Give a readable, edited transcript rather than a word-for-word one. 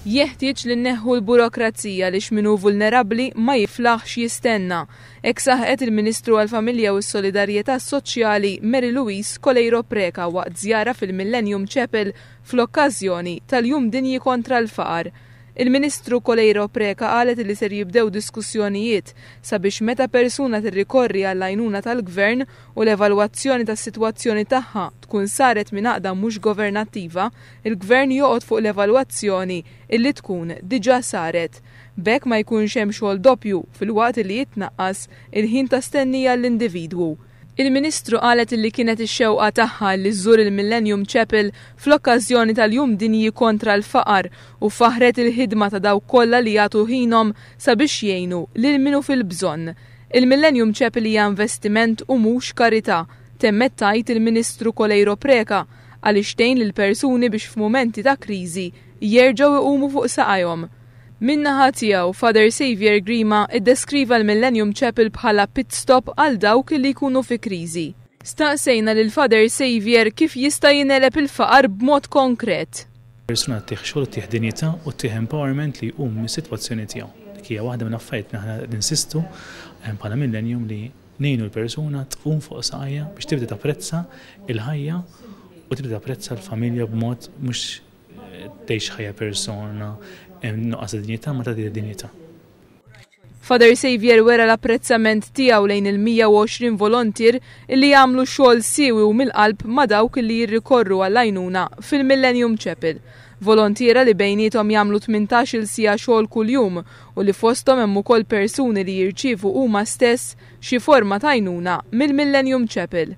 Jeħtieġ li nneħħu l-burokrazija għaliex min hu vulnerabbli ma jiflaħx jistenna. Hekk saħqet il-Ministru għall-Familja u s-Solidarjetà Soċjali Mary Louise Coleiro Preca waqt żjara fil-Millennium Chapel fl-okkażjoni tal-Jum Dinji Kontra l-Faqar. Il-Ministru Coleiro Preca qalet li ser jibdew diskussjonijiet sabiex meta persuna tirrikorri għall-għajnuna tal-Gvern u l-evalwazzjoni tas-sitwazzjoni tagħha tkun saret minn għaqda mhux governattiva, il-Gvern joqgħod fuq l-evalwazzjoni illi tkun diġà saret. B'hekk ma jkunx hemm xogħol doppju filwaqt illi jitnaqqas il-ħin ta' stennija għall-individwu. Il-Ministru qalet illi kienet ix-xewqa tagħha illi żżur il-Millennium Chapel fl-okkażjoni tal-Jum Dinji Kontra l-Faqar u faħħret il-ħidma ta' dawk kollha li jagħtu ħinhom sabiex jgħinu lil min hu fil-bżonn. Il-Millennium Chapel hija investiment u mhux karità, temmet tgħid il-Ministru Coleiro Preca, għaliex tgħin lill-persuni biex f'mumenti ta' kriżi jerġgħu jqumu fuq saqajhom. Min-naħa tiegħu, Father Saviour Grima ddeskriva l-Millennium Chapel bħala pit stop għal dawk li jkunu fi kriżi. Staqsejna lil Father Saviour kif jista' jingħeleb il-faqar b'mod konkret. Persuna ttih xogħol, ttih dinjità u ttih empowerment li jqum mis-sitwazzjoni tiegħu. Dik hija waħda mill-affarijiet li aħna ninsistu bħala Millennium li ngħinu l-persuna tqum fuq saqajha biex tibda tapprezza l-ħajja u tibda tapprezza l-familja b'mod mhux tgħix ħajja persona nuqqas ta' dinjità ma tagħti dinjità. Father Saviour wera l-apprezzament tiegħu lejn il-120 volontier illi jagħmlu xogħol siewi u mill-qalb ma' dawk illi jirrikorru għall-għajnuna fil-Millennium Chapel. Volontiera li bejniethom jagħmlu 18-il siegħa xogħol kuljum u li fosthom hemm ukoll persuni li jirċievu huma stess xi forma ta' għajnuna mill-Millennium Chapel.